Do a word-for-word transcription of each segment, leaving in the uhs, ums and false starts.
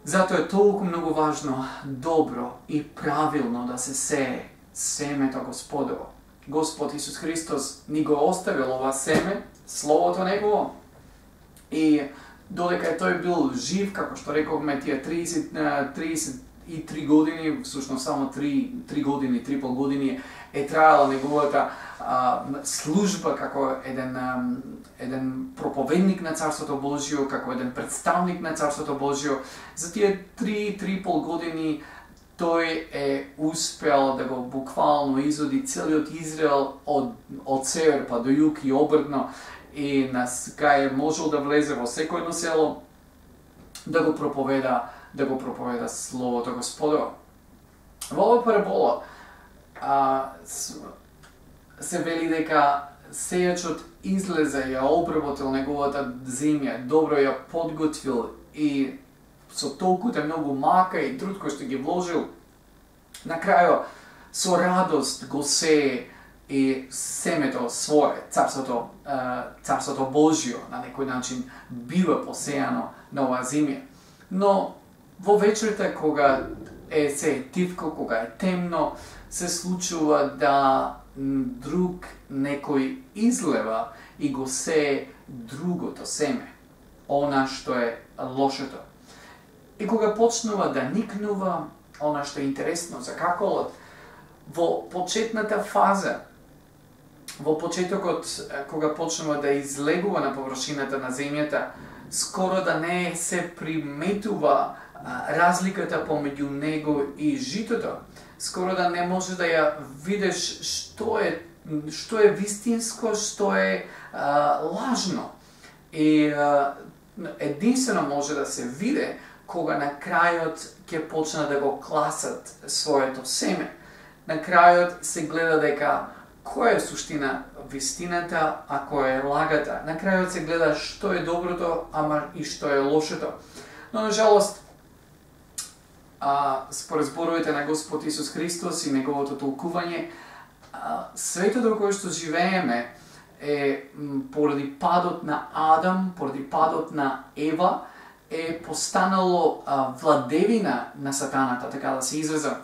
Затоа е толку многу важно, добро и правилно да се сее семето Господово. Господ Исус Христос ни го оставил ова семе, Словото Негово, и додека тој бил жив, како што рековме, тие триесет и три години, всушност само три години, три пол години е траела неговата а, служба како еден, а, еден проповедник на Царството Божјо, како еден представник на Царството Божјо. За тие три, три пол години тој е успел да го буквално изоди целиот Израел од, од север па до југ и обртно, и на кај можел да влезе во секој едно село да го проповеда, да го проповеда Словото Господово. Во оваа парабола а, се вели дека сејачот излезе, ја обработил неговата земја, добро ја подготвил и со толкуте многу мака и труд кој што ги вложил, на крајот со радост го сее и семето свое, царството, царството Божјо, на некој начин бива посејано на оваа земја. Но во вечерта, кога е се тивко, кога е темно, се случува да друг некој излева и го сее другото семе, она што е лошото. И кога почнува да никнува, она што е интересно за каколот, во почетната фаза, во почетокот, кога почнува да излегува на површината на земјата, скоро да не се приметува разликата помеѓу него и житото. Скоро да не може да ја видиш што е, што е вистинско, што е а, лажно. И а, единствено може да се види кога на крајот ќе почна да го класат своето семе. На крајот се гледа дека која е суштина вистината, а која е лагата. На крајот се гледа што е доброто, ама и што е лошото. Но на жалост, а, според зборовите на Господ Исус Христос и неговото толкување, а, светот во кој што живееме е поради падот на Адам, поради падот на Ева, е постанало а, владевина на сатаната, така да се израза.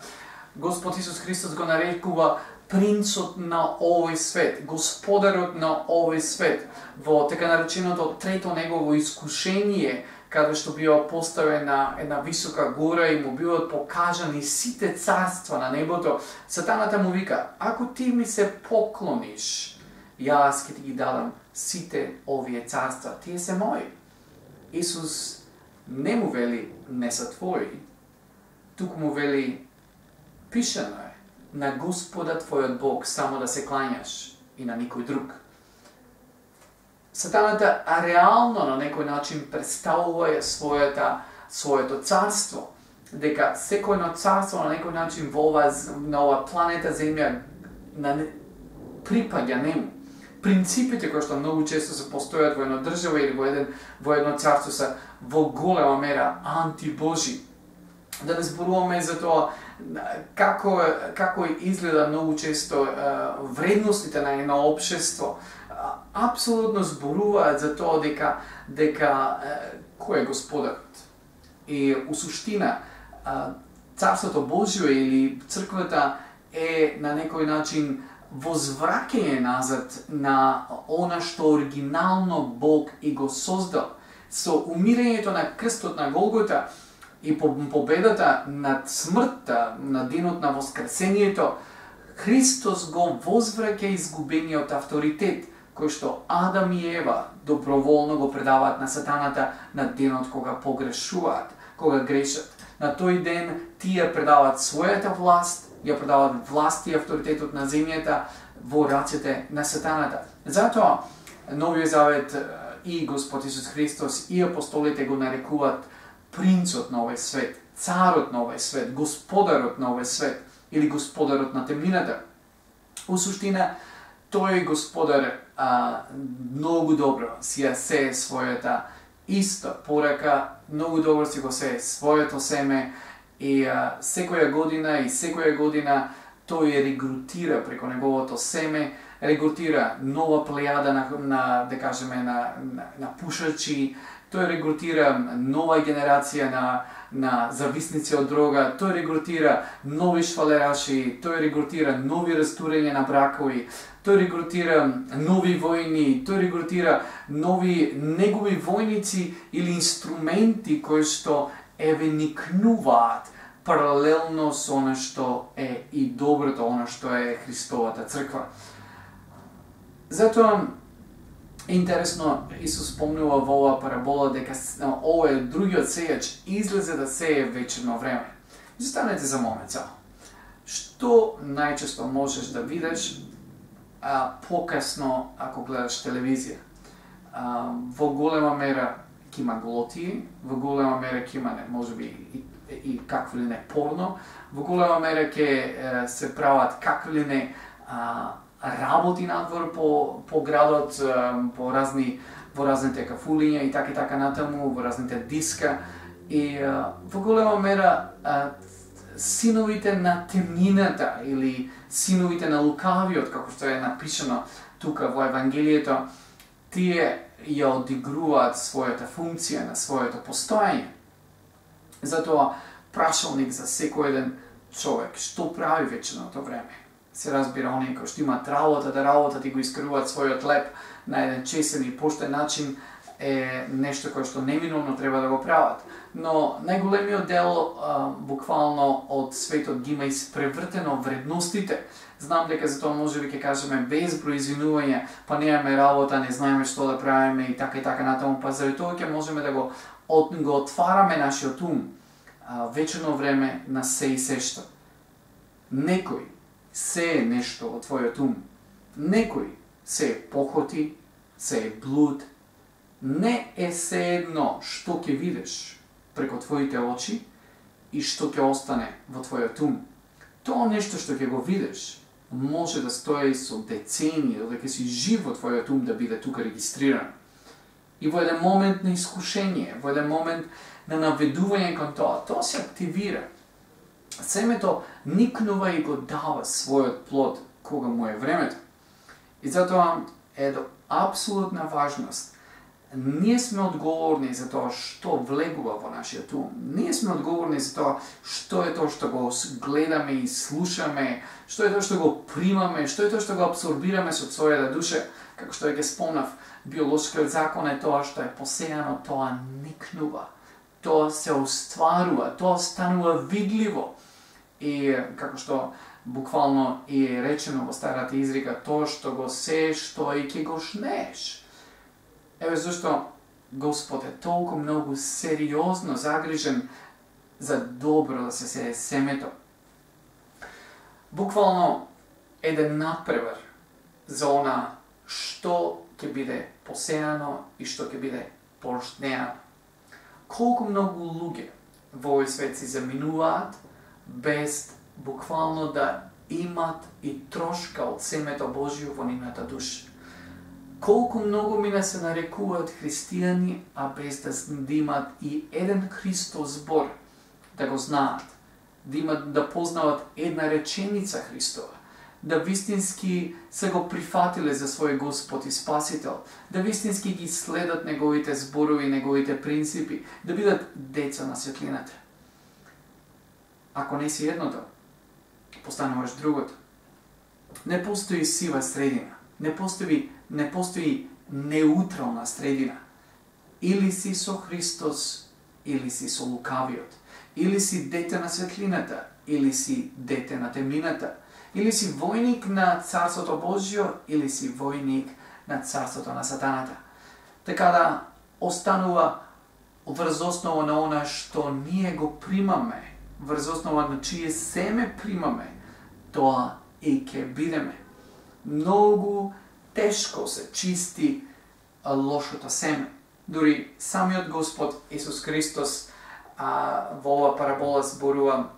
Господ Исус Христос го нарекува принцот на овој свет, господарот на овој свет. Во така нареченото трето негово искушение, каде што бива поставена една висока гора и му биваат покажани сите царства на небото, сатаната му вика: ако ти ми се поклониш, јас ќе ти ги дадам сите овие царства, тие се мои. Исус не му вели не са твои, туку му вели пишано е на Господа твојот Бог само да се клањаш и на никој друг. Сатаната реално на некој начин представува својата, своето царство, дека секојно царство на некој начин во ова, на ова планета Земја на, припаѓа нему. Принципите кои што многу често се постојат во една држава или во, еден, во едно царство се во голема мера антибожи. Да не зборуваме за тоа како, како изгледа многу често вредностите на едно општество. Апсолутно зборуваат за тоа дека, дека кој е господарот. И у суштина Царството Божјо или црквата е на некој начин возвраќање назад на она што оригинално Бог и го создал. Со умирањето на крстот на Голгота и победата над смртта, на денот на воскресението, Христос го возвраќа изгубениот авторитет, кој што Адам и Ева доброволно го предаваат на сатаната на денот кога погрешуваат, кога грешат. На тој ден тие предаваат својата власт, ја предаваат власт и авторитетот на земјата во рацете на сатаната. Затоа Новиот Завет и Господ Исус Христос и апостолите го нарекуваат принцот на овој свет, царот на овој свет, господарот на овој свет или господарот на темнината. У суштина, тој господар а, многу добро си ја сее својата иста порака, многу добро си го сее своето семе и а, секоја година и секоја година тој регрутира преко неговото семе, регрутира нова плејада на, на да кажеме, на, на, на пушачи тој регрутира нова генерација на на зависници од дрога, тој регрутира нови швалераши, тој регрутира нови растурења на бракови, тој регрутира нови војни, тој регрутира нови негови војници или инструменти кои што еве никнуваат паралелно со она што е и доброто, она што е Христовата црква. Затоа интересно, Исус спомнува во оваа парабола дека овој другиот сејач излезе да сее вечерно време. Застанете за момент само. Што најчесто можеш да видиш а, покасно ако гледаш телевизија? А, во голема мера ќе има глотии, во голема мера ќе има можеби и, и какво ли не порно, во голема мера ќе се прават какво ли не а, работи надвор по, по градот, по разни, во разните кафулиња и така и така натаму, во разните диска. И во голема мера синовите на темнината или синовите на лукавиот, како што е напишано тука во Евангелието, тие ја одигруваат својата функција на своето постојање. Затоа прашалник за секој еден човек, што прави вечерното време? Се разбира, оние кои што имаат работа да работат и го искаруваат својот леп на еден честен и поштен начин е нешто кое што неминовно треба да го прават. Но најголемиот дел а, буквално од светот ги има испревртено вредностите. Знам дека за тоа можеби ќе кажеме безброј извинувања, па немаме работа, не знаеме што да правиме и така и така натаму, па заради тоа ќе можеме да го, от, го отвараме нашиот ум а, вечерно време на се и сешто. Некој се е нешто од твојот ум. Некој се е похоти, се е блуд. Не е се едно што ќе видиш преко твоите очи и што ќе остане во твојот ум. Тоа нешто што ќе го видиш може да стои со децении, додека си жив во твојот ум да биде тука регистриран. И во еден момент на искушение, во еден момент на наведување кон тоа, тоа се активира. Семето никнува и го дава својот плод кога му е времето. И затоа е до апсолутна важност. Ние сме одговорни за тоа што влегува во нашиот ум. Ние сме одговорни за тоа што е тоа што го гледаме и слушаме, што е тоа што го примаме, што е тоа што го абсорбираме со својата душа. Како што ќе спомнав, биолошкиот закон е тоа што е посејано, тоа никнува. Тоа се остварува, тоа станува видливо. И како што буквално и е речено во старата изрека, тоа што го сееш, тоа и ќе го жнееш. Еве зашто Господ е толку многу сериозно загрижен за добро да се сее семето. Буквално еден надпревар за она што ќе биде посејано и што ќе биде пожнеано. Колку многу луѓе во овој свет си заминуваат без буквално да имат и трошка од семето Божјо во нивната душа. Колку многу мина се нарекуваат христијани, а без да имат и еден Христов збор да го знаат, да имат да познават една реченица Христова, да вистински се го прифатиле за свој Господ и Спасител, да вистински ги следат неговите зборови, неговите принципи, да бидат деца на светлината. Ако не си едното, постануваш другото. Не постои сива средина, не постои, не постои неутрална средина. Или си со Христос, или си со лукавиот. Или си дете на светлината, или си дете на темнината. Или си војник на Царството Божјо, или си војник на Царството на Сатаната. Така да останува врз основа на она што ние го примаме, врз основа на чие семе примаме, тоа и ќе бидеме. Многу тешко се чисти лошото семе. Дури самиот Господ Исус Христос а, во оваа парабола зборува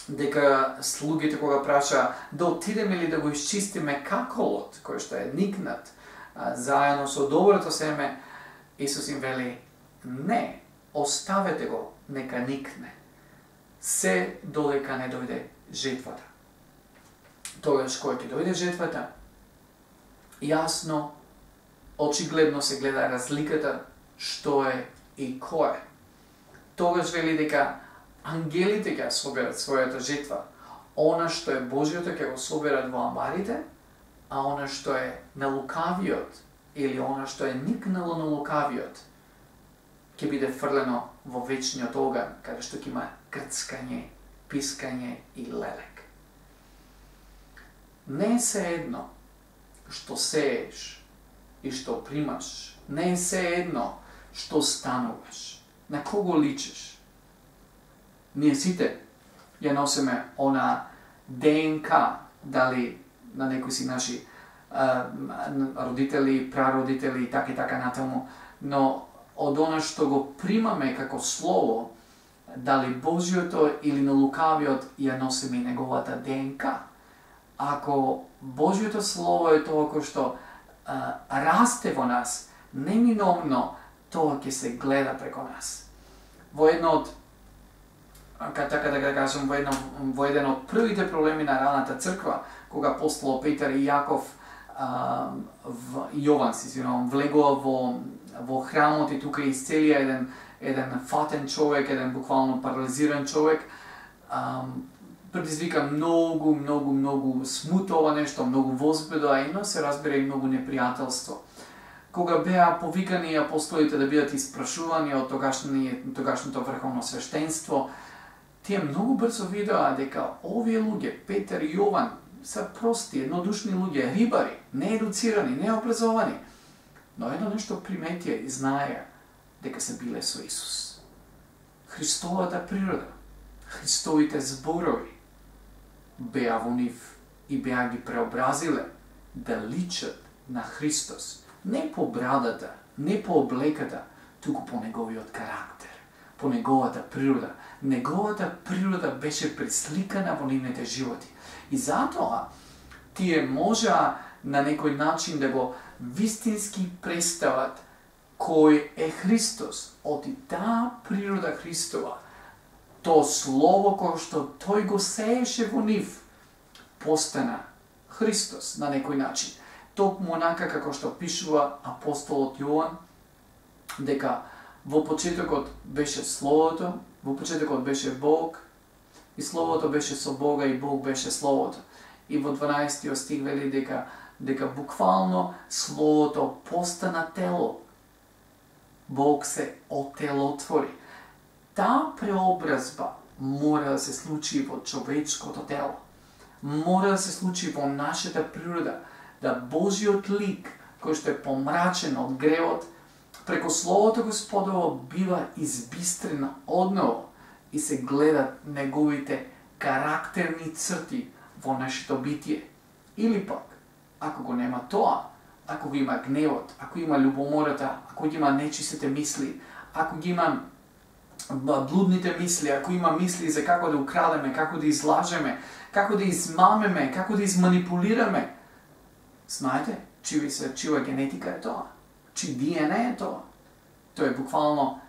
дека слугите кога праша да отидеме ли да го исчистиме каколот кој што е никнат а, заедно со доброто семе, Исус им вели не, оставете го, нека никне. Се додека не дојде жетвата. Тогаш кој ќе дојде жетвата, јасно, очигледно се гледа разликата што е и кој е. Тогаш вели дека ангелите ќе соберат својата жетва. Она што е Божјото ќе го соберат во амбарите, а она што е на лукавиот или она што е никнало на лукавиот ќе биде фрлено во вечниот оган, каде што ќе има крцкање, пискање и лелек. Не е се едно што сееш и што примаш. Не е се едно што стануваш. На кого личиш? Ние сите ја носиме она ДНК, дали на некои си наши а, родители, прародители и така и така натаму, но од она што го примаме како слово, дали Божјото или на лукавиот, ја носиме и неговата ДНК. Ако Божјото слово е тоа кој што а, расте во нас, неминовно тоа ќе се гледа преко нас. Во едно од така да кажам, во, едно, во еден од првите проблеми на раната црква, кога апостол Петар и Јаков, а, в, Јован, си извинувам, влегува во, во храмот и тука исцелија еден, еден фатен човек, еден буквално парализиран човек, а, предизвика многу, многу, многу смут ова нешто, многу возбеда, а ино се разбира и многу непријателство. Кога беа повикани апостолите да бидат испрашувани од тогашното врховно свештенство, тие многу брзо видоа дека овие луѓе, Петар и Јован, се прости, еднодушни луѓе, рибари, неедуцирани, необразовани, но едно нешто приметија и знаеа дека се биле со Исус. Христовата природа, Христовите зборови беа во нив и беа ги преобразиле да личат на Христос, не по брадата, не по облеката, туку по неговиот карактер, по неговата природа. Неговата природа беше пресликана во нивните животи. И затоа тие можа на некој начин да го вистински представат кој е Христос. Од таа природа Христова, то слово кое што тој го сееше во нив, постана Христос на некој начин. Токму онака како што пишува апостолот Јован, дека во почетокот беше Словото, во почетокот беше Бог, и Словото беше со Бога, и Бог беше Словото. И во дванаесеттиот стих вели дека, дека буквално Словото постана тело. Бог се отелотвори. Таа преобразба мора да се случи во човечкото тело. Мора да се случи во нашата природа, да Божиот лик, кој што е помрачен од гревот, преко Словото Господово бива избистрена одново и се гледат неговите карактерни црти во нашето битие. Или пак, ако го нема тоа, ако го има гневот, ако има љубомората, ако ги има нечистите мисли, ако ги има блудните мисли, ако има мисли за како да украдеме, како да излажеме, како да измамеме, како да изманипулираме, знаете, чива се чива генетика е тоа. Чи Д Н Е е тоа. Тоа е буквално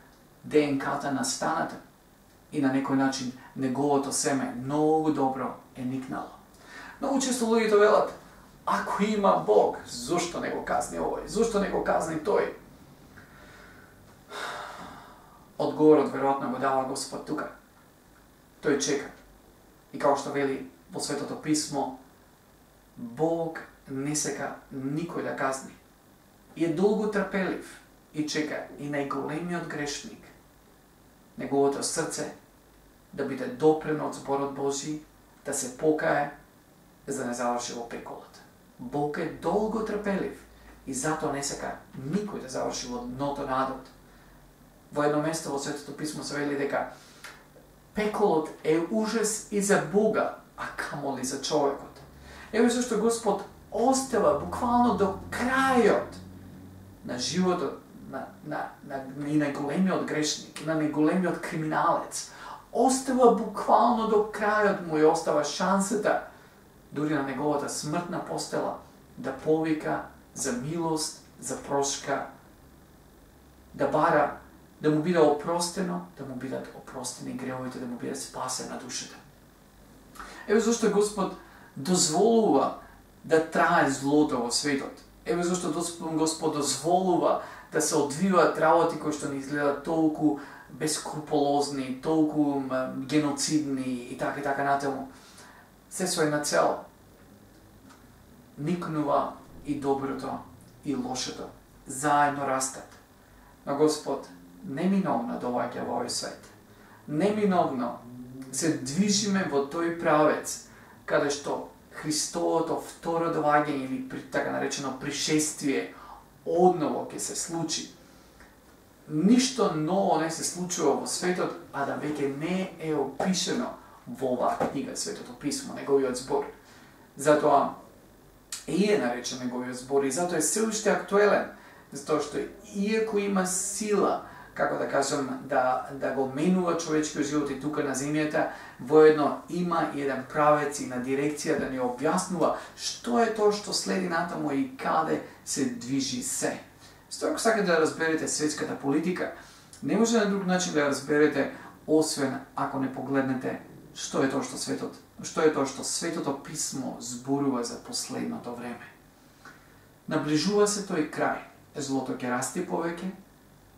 ДНК-та на станата. И на некој начин неговото семе многу добро е никнало. Многу често луѓето велат, ако има Бог, зошто не го казни овој? Зошто не го казни тој? Одговорот веројатно го дава Господ тука. Тој чека. И како што вели во Светото писмо, Бог не сека никој да казни. И е долго трпелив и чека и најголемиот грешник, неговото срце да биде допрено од зборот Божи, да се покае, за да не заврши во пеколот. Бог е долго трпелив и затоа не сека никој да заврши во дното на адот. Во едно место во Светото писмо се вели дека пеколот е ужас и за Бога, а камоли за човекот. Еве зашто Господ остава буквално до крајот на животот на, на, на, и на големиот грешник, и на најголемиот криминалец. Остава буквално до крајот му и остава шансата, дури на неговата смртна постела, да повика за милост, за прошка, да бара, да му биде опростено, да му бидат опростени гревовите, да му биде спасена душата. Еве зашто Господ дозволува да трае злото во светот. Еве зашто Господ дозволува да се одвиваат работи кои што ни изгледаат толку бескрупулозни, толку геноцидни и така и така натаму. Се со една цел. Никнува и доброто и лошото. Заедно растат. Но Господ неминовно доаѓа во овој свет. Неминовно се движиме во тој правец каде што Христовото второ доаѓање или така наречено пришествие одново ќе се случи. Ништо ново не се случува во светот, а да веќе не е опишено во оваа книга, Светото писмо, неговиот збор. Затоа и е наречен неговиот збор и затоа е се уште актуелен, затоа што иако има сила, како да кажам, да, да го менува човечкиот живот и тука на земјата, воедно има и еден правец и на дирекција да ни објаснува што е тоа што следи натаму и каде се движи се. Стој, ако сакате да разберете светската политика, не може на друг начин да ја разберете, освен ако не погледнете што е тоа што светот, што е тоа што Светото писмо зборува за последното време. Наближува се тој крај, злото ќе расти повеќе.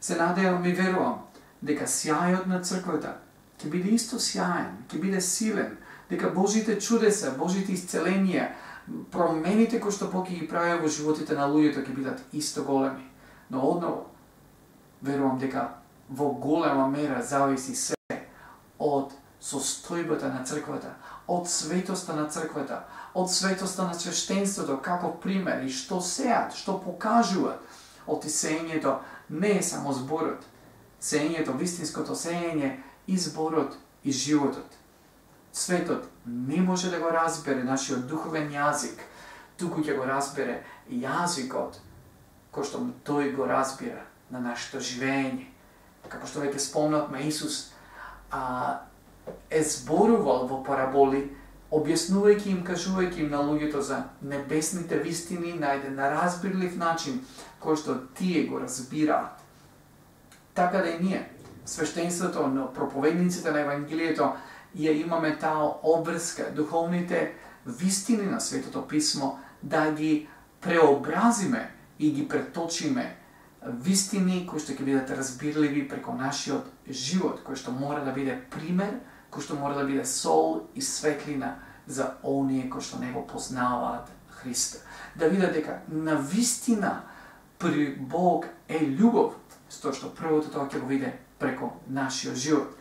Се надевам и верувам дека сјајот на црквата ќе биде исто сјаен, ќе биде силен, дека Божите чудеса, Божите исцеленија, промените кои што Бог ги прави во животите на луѓето ќе бидат исто големи. Но одново верувам дека во голема мера зависи се од состојбата на црквата, од светоста на црквата, од светоста на свештенството, како пример и што сеат, што покажуваат. Од сеењето не е само зборот. Сеењето, вистинското сеење и зборот и животот. Светот не може да го разбере нашиот духовен јазик, туку ќе го разбере јазикот кој што тој го разбира на нашето живење. Како што веќе спомнавме, Исус а, е зборувал во параболи, објаснувајќи им, кажувајќи им на луѓето за небесните вистини на еден разбирлив начин, кој што тие го разбираат. Така да и ние, свештенството на проповедниците на Евангелието, ја имаме таа обврска, духовните вистини на Светото писмо, да ги преобразиме и ги преточиме вистини кои што ќе бидат разбирливи преко нашиот живот, кој што мора да биде пример, кој што мора да биде сол и светлина за оние кои што не го познаваат Христа. Да видат дека на вистина при Бог е љубов, со што првото тоа ќе го виде преко нашиот живот.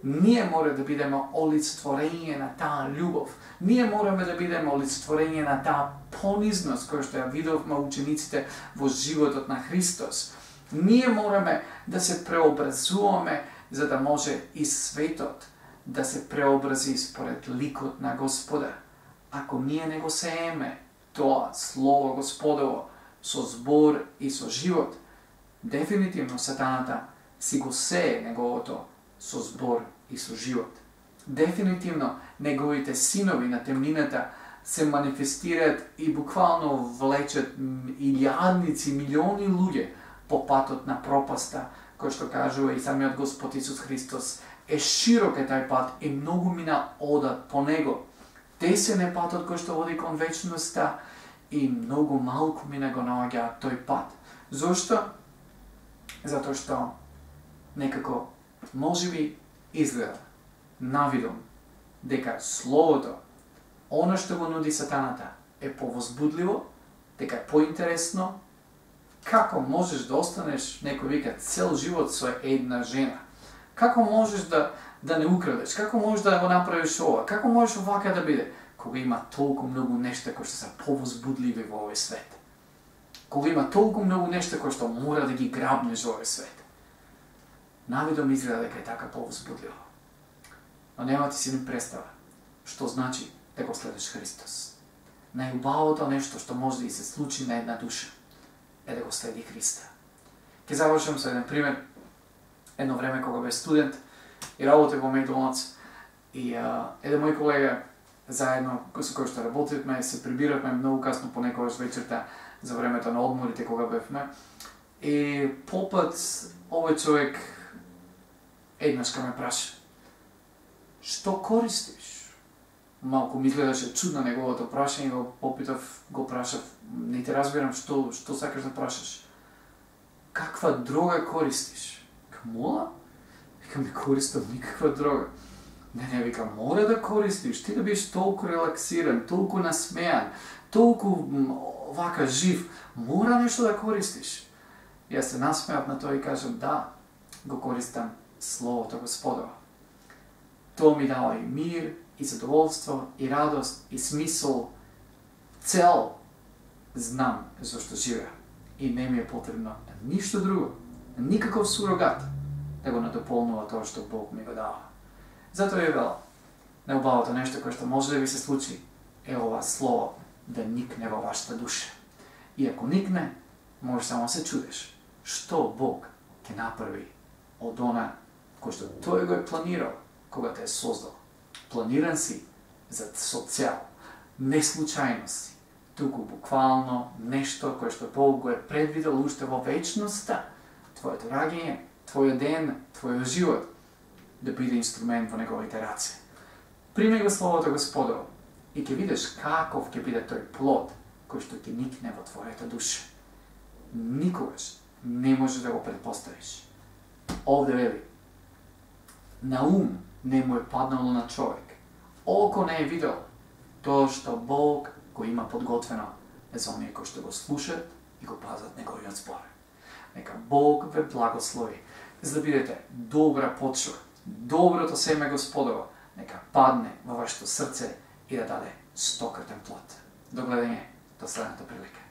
Ние мора да бидеме олицетворење на таа љубов. Ние мораме да бидеме олицетворење на таа понизност која што ја видовме учениците во животот на Христос. Ние мораме да се преобразуваме за да може и светот да се преобрази според ликот на Господа. Ако ние не го сееме тоа Слово Господово со збор и со живот, дефинитивно сатаната си го сее неговото со збор и со живот. Дефинитивно неговите синови на темнината се манифестираат и буквално влечат илјадници, милиони луѓе по патот на пропаста, кој што кажува и самиот Господ Исус Христос, е широк е тај пат и многу мина одат по него. Тесен е патот кој што води кон вечноста и многу малку мина го наоѓа тој пат. Зошто? Затоа што некако можеби изгледа навидом дека Словото, она што го нуди сатаната, е повозбудливо, дека е поинтересно. Како можеш да останеш, некој вика, цел живот со една жена? Како можеш да, да не украдеш? Како можеш да го направиш ова? Како можеш овака да биде? Кога има толку многу нешта кои што се повозбудливи во овој свет. Кога има толку многу нешта кои што мора да ги грабнеш во овој свет. Навидом изгледа дека е така повозбудливо. Но нема ти си ни представа што значи да го следиш Христос. Најубавото нешто што може да и се случи на една душа е да го следи Христа. Ке завршам со еден пример. Едно време кога бе студент и работев во Макдоналдс и а, еден мој колега заедно со кој што работевме, се прибиравме многу касно понекогаш вечерта за времето на одморите кога бевме. И попат овој човек еднаш ка ме праша: што користиш? Малку ми изгледаше чудно неговото прашање, го попитав, го прашав: не те разбирам, што што сакаш да прашаш? каква дрога користиш? Мола? Вика, не користам никаква дрога. Не, не, вика, мора да користиш, ти да бидеш толку релаксиран, толку насмеан, толку вака жив, мора нешто да користиш. Јас се насмеав на тоа и кажам, да, го користам Словото Господово. Тоа ми дава и мир, и задоволство, и радост, и смисол, цел, знам зашто живеа. И не ми е потребно ништо друго, никаков сурогат да го надополнува тоа што Бог ми го дава. Затоа е вела, најубавото нешто кое што може да ви се случи е ова слово да никне во вашата душа. И ако никне, може само се чудеш што Бог ќе направи од она кој што тој го е планирал кога те е создал. Планиран си за со цел, не случајно си, туку буквално нешто кое што Бог го е предвидел уште во вечноста, твоето раѓање, твојот ден, твојот живот, да биде инструмент во неговите раце. Прими го Словото Господово и ќе видиш каков ќе биде тој плод кој што ти никне во твојата душа. Никогаш не можеш да го предпоставиш. Овде вели, на ум не му е паднало на човек, око не е видел тоа што Бог го има подготвено за оние кои што го слушат и го пазат неговиот збор. Нека Бог ве благослови, за да бидете добра почва, доброто семе Господово, нека падне во вашето срце и да даде стократен плод. До гледање, до следната прилика.